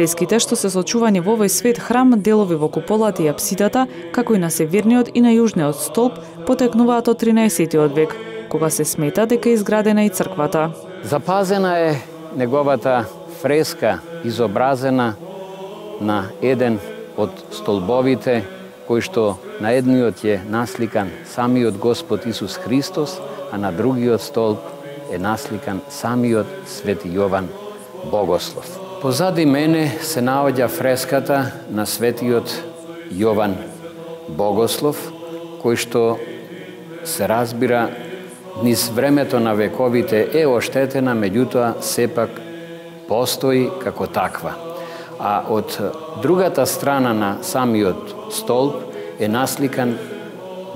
Фреските што се сочувани во овој свет храм, делови во куполата и апсидата, како и на северниот и на јужниот столб, потекнуваат од 13 век, кога се смета дека е изградена и црквата. Запазена е неговата фреска, изобразена на еден од столбовите, кој што на едниот е насликан самиот Господ Исус Христос, а на другиот столб е насликан самиот Свети Јован Богослов. Позади мене се наоѓа фреската на Светиот Јован Богослов, кој што се разбира низ времето на вековите е оштетена, меѓутоа сепак постои како таква. А од другата страна на самиот столб е насликан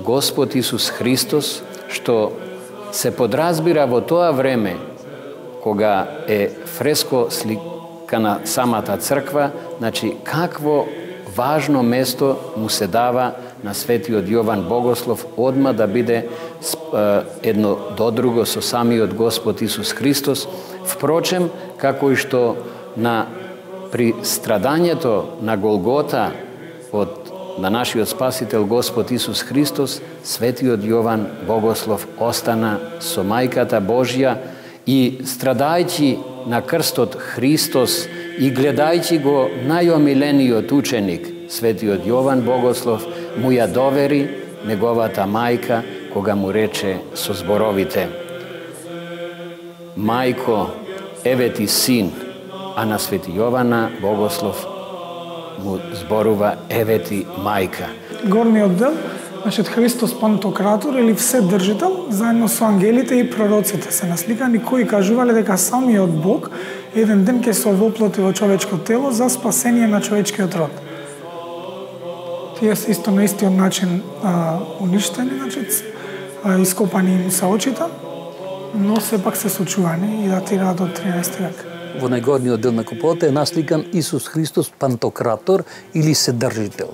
Господ Исус Христос, што се подразбира во тоа време кога е фреско сликана самата црква, значи какво важно место му се дава на Светиот Јован Богослов одма да биде едно до друго со самиот Господ Исус Христос. Впрочем, како и што при страдањето на Голгота на нашиот Спасител Господ Исус Христос, Светиот Јован Богослов остана со Мајката Божја и страдајќи на крстот Христос и гледајќи го најомилениот ученик, Светиот Јован Богослов, му ја довери неговата мајка, кога му рече со зборовите: Мајко, еве ти син, а на Свети Јована Богослов му зборува: еве ти мајка. Горниот дел, нашиот Христос Пантократор или Вседржител, заедно со ангелите и пророците се насликани, кои кажувале дека самиот Бог еден ден ќе се овоплоти во човечко тело за спасение на човечкиот род. Тие се исто на истиот начин уништени, значи ископани им се очите, но сепак се сочувани и датираат од 13 век. Во најгорниот дел на куполата е насликан Исус Христос Пантократор или Вседржител.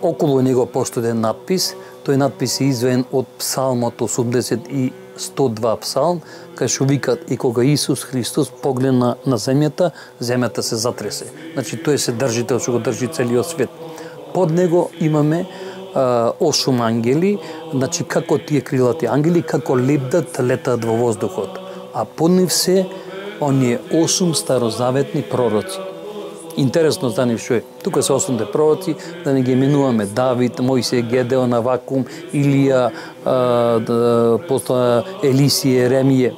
Околу него постои еден надпис. Тој надпис е изведен од Псалмот 80 и 102 псалм, кај што викат: и кога Исус Христос погледна на земјата, земјата се затресе. Значи тој е Вседржител што го држи целиот свет. Под него имаме 8 ангели, значи како тие крилати ангели, како летаат во воздухот. А под нив се оние 8 старозаветни пророци. Интересно за нив што е. Тука се 8 пророци, да не ги именуваме Давид, Мојсија, Гедеон, Авакум, Илија, после Елисија, Еремија.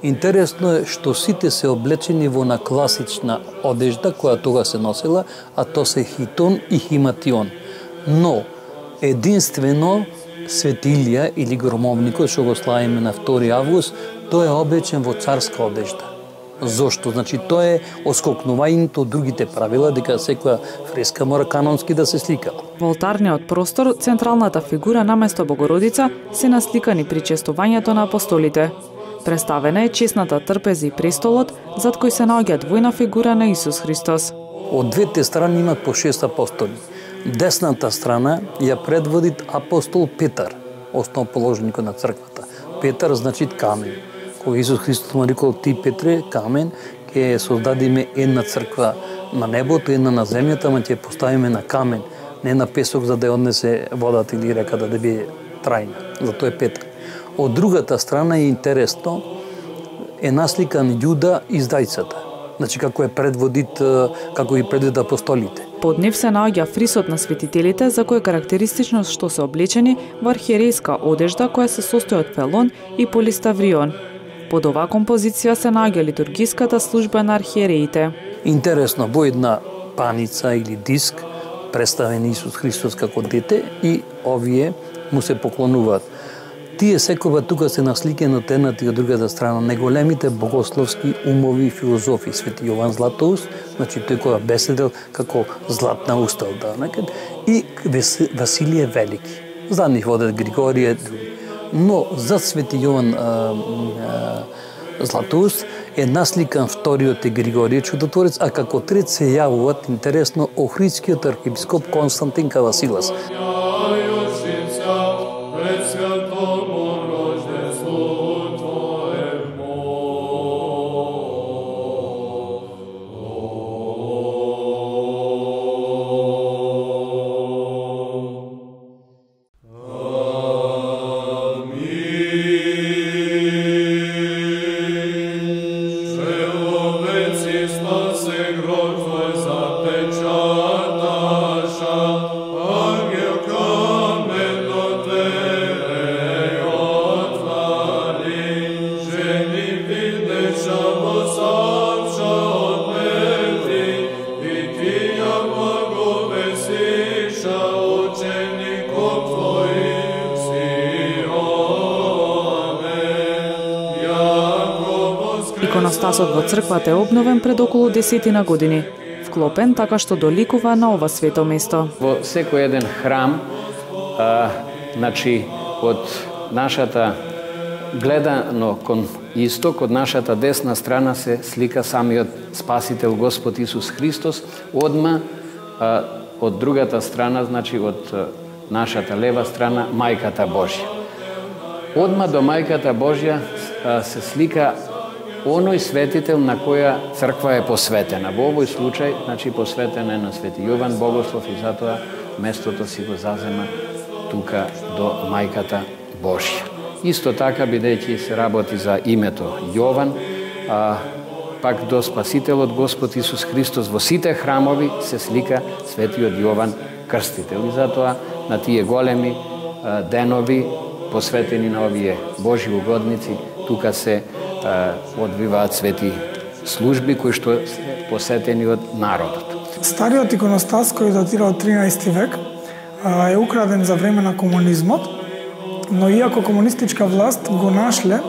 Интересно е што сите се облечени во на класична одежда која тога се носела, а то се хитон и химатион. Но единствено Свети Илија или громовникот што го славиме на 2 август, тој е облечен во царска одежда. Зошто? Значи тоа е оскокнувањето од другите правила дека секоја фреска мора канонски да се слика. Во олтарниот простор централната фигура наместо Богородица се насликани причестувањето на апостолите. Представена е чесната трпеза и престолот, зад кој се наоѓа двојна фигура на Исус Христос. Од двете страни имат по 6 апостоли. Десната страна ја предводи апостол Петар, основоположникот на црквата. Петар значи камен. Кога Исус Христос му рекол: ти Петре, камен, ќе создадиме една црква на небото, една на земјата, ама ќе поставиме на камен, не на песок за да ја однесе водата или реката да биде трајна. Затоа е Петар. Од другата страна е интересно, е насликан Јуда издајцата. Значи како е предводит, како ги предводат апостолите. Под нив се наоѓа фрисот на светителите, за кој е карактеристично што се облечени во архиерејска одежда која се состои од фелон и полиставрион. Под оваа композиција се наоѓа литургиската служба на архиереите. Интересно, во една паница или диск представен Исус Христос како дете и овие му се поклонуваат. Тие секоја тука се насликени од едната и од другата страна најголемите богословски умови и филозофи. Свети Јован Златоуст, значи тој која беседел како златна уста и Василije Велики. За нив водат Григорije, други. Но за Свети Јован Златоуст е насликан вториот е Григорije Чудотворец, а како трет се јавуваат интересно охридскиот архиепископ Константин Кавасилас. иконостасот во црквата е обновен пред околу 10 години, вклопен така што доликува на ова свето место. Во секој еден храм, значи од нашата гледано кон исток, од нашата десна страна се слика самиот Спасител Господ Исус Христос, одма од другата страна, значи од нашата лева страна, Мајката Божја. Одма до Мајката Божја се слика оној светител на која црква е посветена. Во овој случај, значи посветена е на Свети Јован Богослов и затоа местото си го зазема тука до Мајката Божја. Исто така, бидејќи се работи за името Јован, пак до Спасителот Господ Исус Христос во сите храмови се слика Светиот Јован Крстител. И затоа на тие големи денови посветени на овие Божји угодници, тука се одвиваат свети служби кои што се посетени од народот. Стариот иконостас кој датира од 13 век е украден за време на комунизмот, но иако комунистичка власт го нашле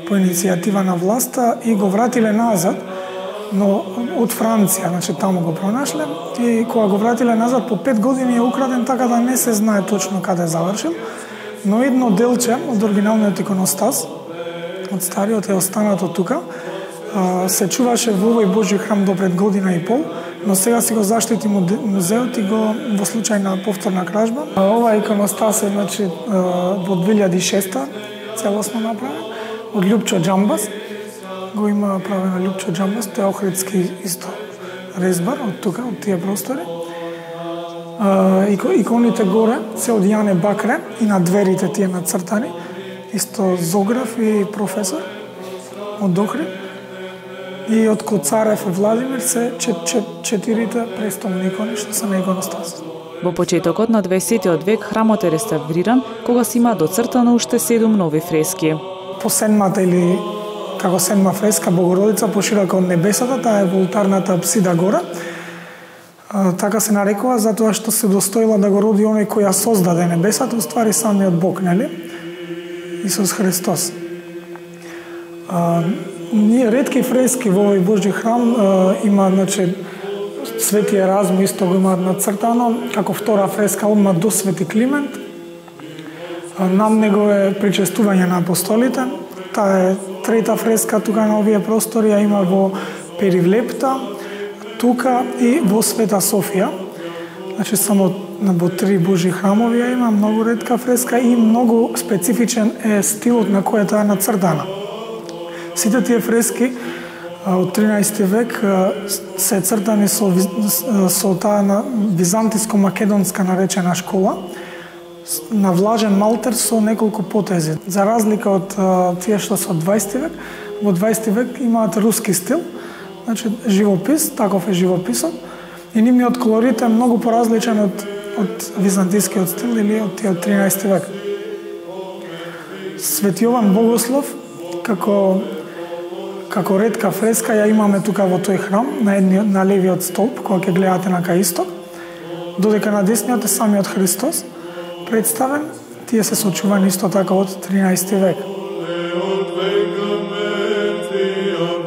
по иницијатива на власта и го вратиле назад, но од Франција, значи таму го пронашле, и кога го вратиле назад по 5 години е украден, така да не се знае точно каде завршил, но едно делче од оригиналниот иконостас, од стариот е останато тука, се чуваше во овој Божји храм до пред година и пол, но сега си го заштити музеот и го во случај на повторна кражба. Ова иконостас е, значи, во 2006 целосно направен од Љупчо Џамбас. Го има правено Љупчо Џамбас, тој е охридски исто резбар од тука, од тие простори. Иконите горе се од Јане Бакре и на дверите тие нацртани, исто зограф и професор од Охрид. И од Коцарев и Владимир се четирите престолни икони што се на иконостас. Во почетокот на 20 век храмот е реставриран, кога се има доцртано уште 7 нови фрески. По седмата или како седма фреска Богородица поширока од небесата, таа е во олтарната апсида горе. Така се нарекува затоа што се достоила да го роди оној кој ја создаде небесата, уствари самиот Бог, нели? Исус Христос. Ние ретки фрески во овој Божји храм има, значи, Свети Еразм исто го имаат нацртано, како втора фреска одма до Свети Климент. Над него е причестување на апостолите. Таа е трета фреска тука на овие простори, ја има во Перивлепта, тука и во Света Софија. Значи само во 3 Божји храмови ја има, многу ретка фреска и многу специфичен е стилот на кој таа е нацртана. Сите тие фрески од 13 век се цртани со таа на византиско-македонска наречена школа, на влажен малтер со неколку потези. За разлика од тие што се од 20 век, во 20 век имаат руски стил, значи живопис, таков е живописот, и нивниот колорит е многу поразличен од византискиот стил или од тие од 13 век. Свети Јован Богослов, како ретка фреска ја имаме тука во тој храм, на левиот столб, кога ќе гледате на кај исток, додека на десниот е самиот Христос представен, тие се сочувани исто така од 13 век. Prevođaj mrtvi, jak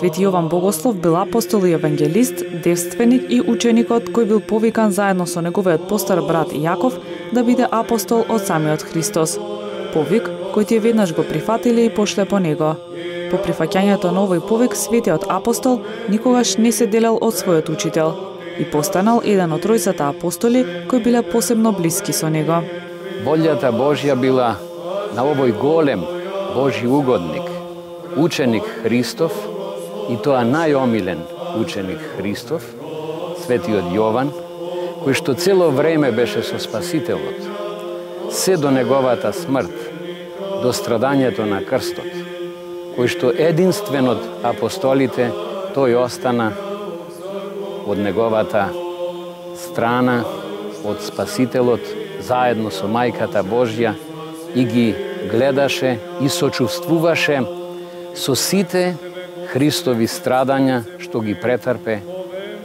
Свети Јован Богослов бил апостол и евангелист, девственик и ученикот кој бил повикан заедно со неговиот постар брат Јаков да биде апостол од самиот Христос. Повик кој тие веднаш го прифатиле и пошле по него. По прифаќањето на овој повик, светиот апостол никогаш не се делел од својот учител и постанал еден од тројцата апостоли кои биле посебно блиски со него. Волјата Божја била на овој голем Божји угодник, ученик Христов, и тоа најомилен ученик Христов, светиот Јован, кој што цело време беше со Спасителот, се до неговата смрт, до страдањето на крстот, кој што единствен од апостолите, тој остана од неговата страна, од Спасителот, заедно со Мајката Божја, и ги гледаше и сочувствуваше со сите Христови страдања што ги претрпе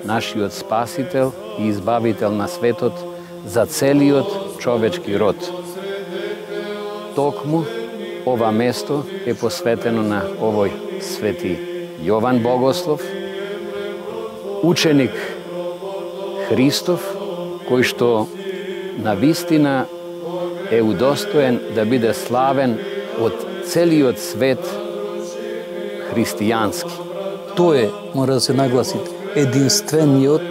нашиот Спасител и Избавител на светот за целиот човечки род. Токму ова место е посветено на овој свети Јован Богослов, ученик Христов, кој што навистина е удостоен да биде славен од целиот свет христијански. Тој е, мора да се нагласи, единствениот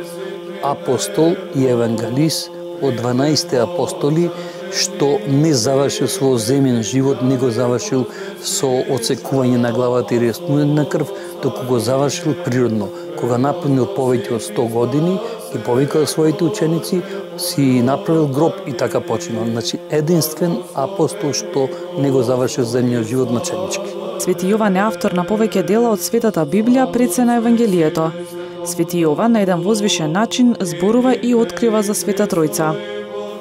апостол и евангелист од 12 апостоли што не завршил свој земен живот, не го завршил со отсекување на главата и реснување на крв, току го завршил природно, кога напунил повеќе од 100 години и повикал своите ученици, си направил гроб и така починал. Значи, единствен апостол што не го завршил земниот живот маченички. Свети Јован е автор на повеќе дела од Светата Библија пред се на Евангелието. Свети Јован на еден возвишен начин зборува и открива за Света Тројца.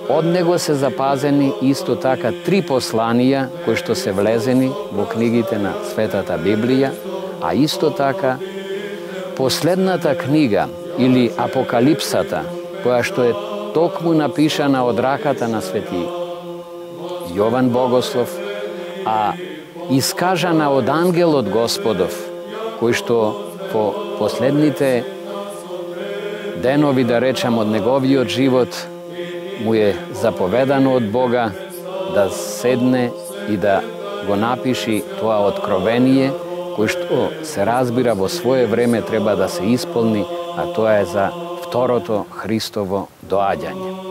Од него се запазени исто така 3 посланија кои што се влезени во книгите на Светата Библија, а исто така последната книга или Апокалипсата, која што е токму напишана од раката на свети Јован Богослов, а искажана од ангелот Господов, кој што по последните денови, да речем, од неговиот живот, му е заповедано од Бога да седне и да го напиши тоа откровение, кој што се разбира во свое време треба да се исполни, а тоа е за второто Христово доаѓање.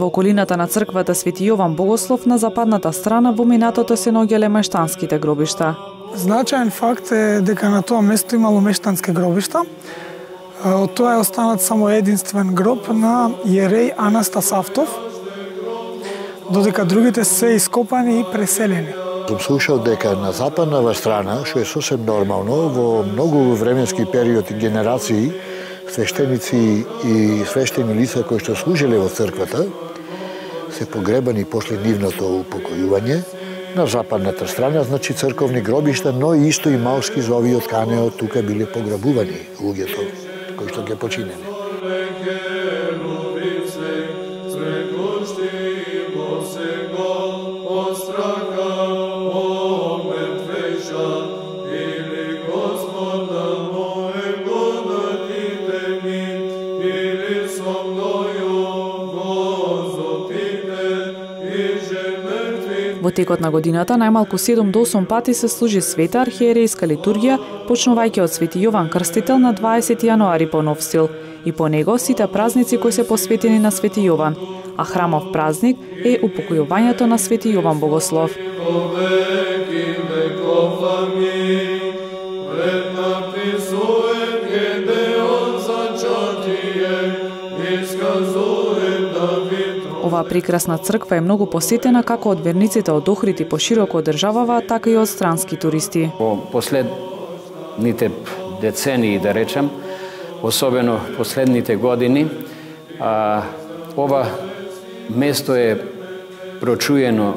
Во околината на црквата Свети Јован Богослов на западната страна во минатото се наоѓале мештанските гробишта. Значаен факт е дека на тоа место имало мештански гробишта. Од тоа е останат само единствен гроб на јереј Анастас Автов, додека другите се ископани и преселени. Сум слушал дека на западната страна, што е сосем нормално, во многу временски период и генерации, свештеници и свештени лица кои што служиле во црквата се погребани после нивното упокојување на западната страна, значи црковни гробишта, но исто и малски за овиот канеот тука биле пограбувани луѓето кои што ги починени. Во текот на годината најмалку 7 до 8 пати се служи света архиерејска литургија, почнувајќи од Свети Јован Крстител на 20 јануари по нов стил, и по него сите празници кои се посветени на Свети Јован, а храмов празник е упокојувањето на Свети Јован Богослов. Iskazuje Оваа прекрасна црква е многу посетена како од верниците од Охрид и пошироко од државава, така и од странски туристи. По последните децении, да речем, особено последните години, ова место е прочуено,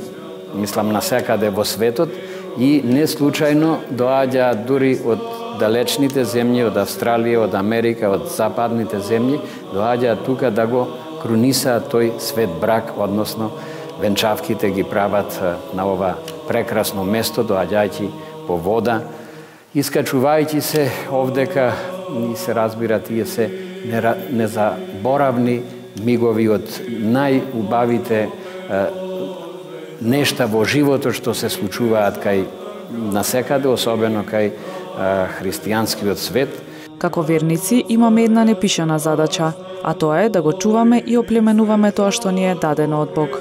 мислам, насекаде во светот и не случајно доаѓа дури од далечните земји, од Австралија, од Америка, од западните земји, доаѓа тука да го крунисаат тој свет брак, односно венчавките ги прават на ова прекрасно место, доаѓајќи по вода, искачувајќи се овдека, и се разбира, тие се незаборавни мигови од најубавите нешта во животот што се случуваат кај насекаде, особено кај христијанскиот свет. Како верници имаме една непишана задача, а тоа е да го чуваме и оплеменуваме тоа што ни е дадено од Бог.